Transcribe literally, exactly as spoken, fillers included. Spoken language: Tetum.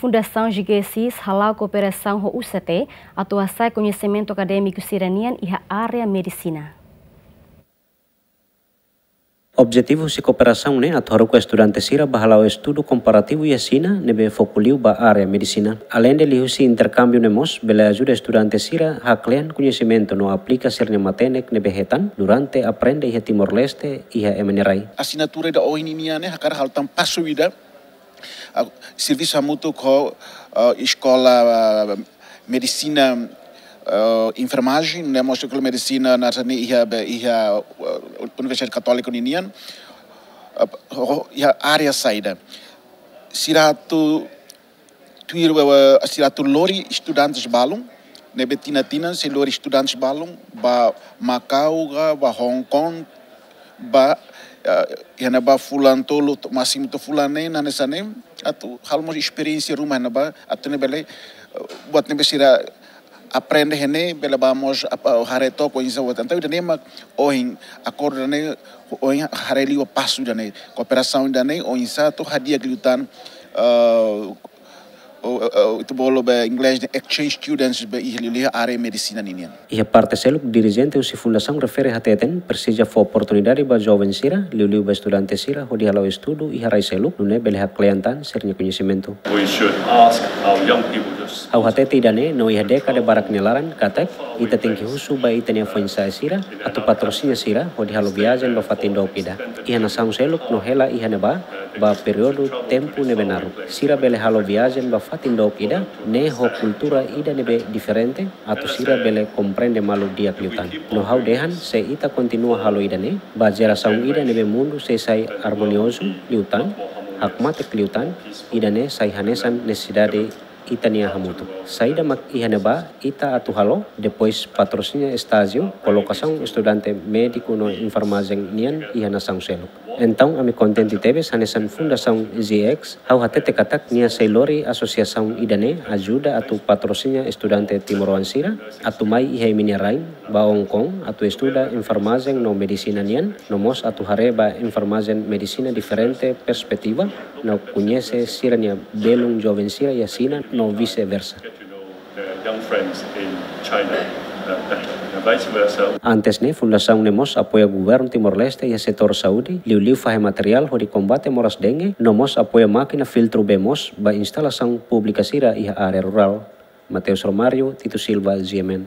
Fundasaun G G S I S hala'o kooperasaun ho U C T atu hasa'e koñesimentu akadémiku sira-nian iha área medisina. Objetivu husi kooperasaun ne'e atu haruka estudante sira ba hala'o estudu komparativu iha Xina ne'ebé foku liu ba área medisina. Aleinde liuhusi interkámbiu ne'e mós bele ajuda estudante sira haklean koñesimentu no aplika sira-nia matenek ne'ebé hetan durante aprende iha Timor-Leste iha ema nia rai. Asinatura ida ohin nian ne'e hakarak halo tan pasu ida, ah, servisu hamutuk ho, ah, eskola, ah, medisina, ah, enfermajen, ne'e mós eskola medisina naran ne'e iha, be, iha, ah, Universidade Katólika ninian, ah, ho, iha área saida. Sira atu tuir, ah, sira atu lori estudantes balun, ne'ebé tinan-tinan sei lori estudantes balun ba Makau ka, ba Hong Kong, ba, ah, iha ne'ebá fulan tolu, to-, másimu to'o fulan neen, hanesan ne'e, atu halo mós esperiénsia ruma iha ne'ebá, atu nune'e bele, ah, buat ne'ebé sira aprende iha ne'e, bele bá mós ap-, ah, haree took oinsá buat. Entaun ida-ne'e mak ohin akordu ida-ne'e, ohin haree liu pasu ida-ne'e, kooperasaun ida-ne'e, oinsá atu hadi'a liután, ah, o, o, o, ita bolu ba inglés de exchange students ba iha liuliu área medisina ninian. Iha parte seluk, dirijente husi fundasaun refere hateten presiza fó oportunidade ba joven sira, liuliu ba estudante sira, hodi hala'o estudu iha rai seluk, nune'e bele haklean tan sira-nia koñesimentu. We should ask our young people to... Ha'u hatete ida-ne'e no iha dékada barak nia laran, katak ita tenke husu ba ita-nia foin-sa'e sira atu patrosina sira hodi halo viajen ba fatin dook ida. Iha nasaun seluk no hela iha ne'ebá, ba períodu tempu ne'ebé naruk. Sira bele halo viajen ba fatin dook ida, ne'e ho kultura ida ne'ebé diferente, atu sira bele komprende malu di'ak liután. No ha'u dehan, se ita kontinua halo ida-ne'e, ba jerasaun ida ne'ebé mundu sei sai armoniozu liután, hakmatek liután, ida-ne'e sai hanesan nesesidade ita-nia hamutuk. Saida mak iha ne'ebá ita atu halo, depois patrosina estájiu, kolokasaun estudante médiku no enfermajen nian iha nasaun seluk. Entaun, ami kontente tebes hanesan Fundasaun G X, ha'u hatete katak nia sei lori asosiasaun ida-ne'e ajuda atu patrosina estudante timoroan sira atu mai iha imi-nia rain ba Hong Kong atu estuda enfermajen no medisina nian, no mós atu haree ba enfermajen medisina diferente perspetiva, no koñese sira-nia belun joven sira iha Xina no vice-versa. Their young friends in China, uh, better, and vice versa. Antes ne'e, fundasaun ne'e mós apoia governu Timor-Leste iha setór saúde, liuliu fahe materiál hodi kombate moras dengue, no mós apoia mákina filtru bee moos ba instalasaun públika sira iha área rurál. Mateus Romário, Tito Silva, G M N.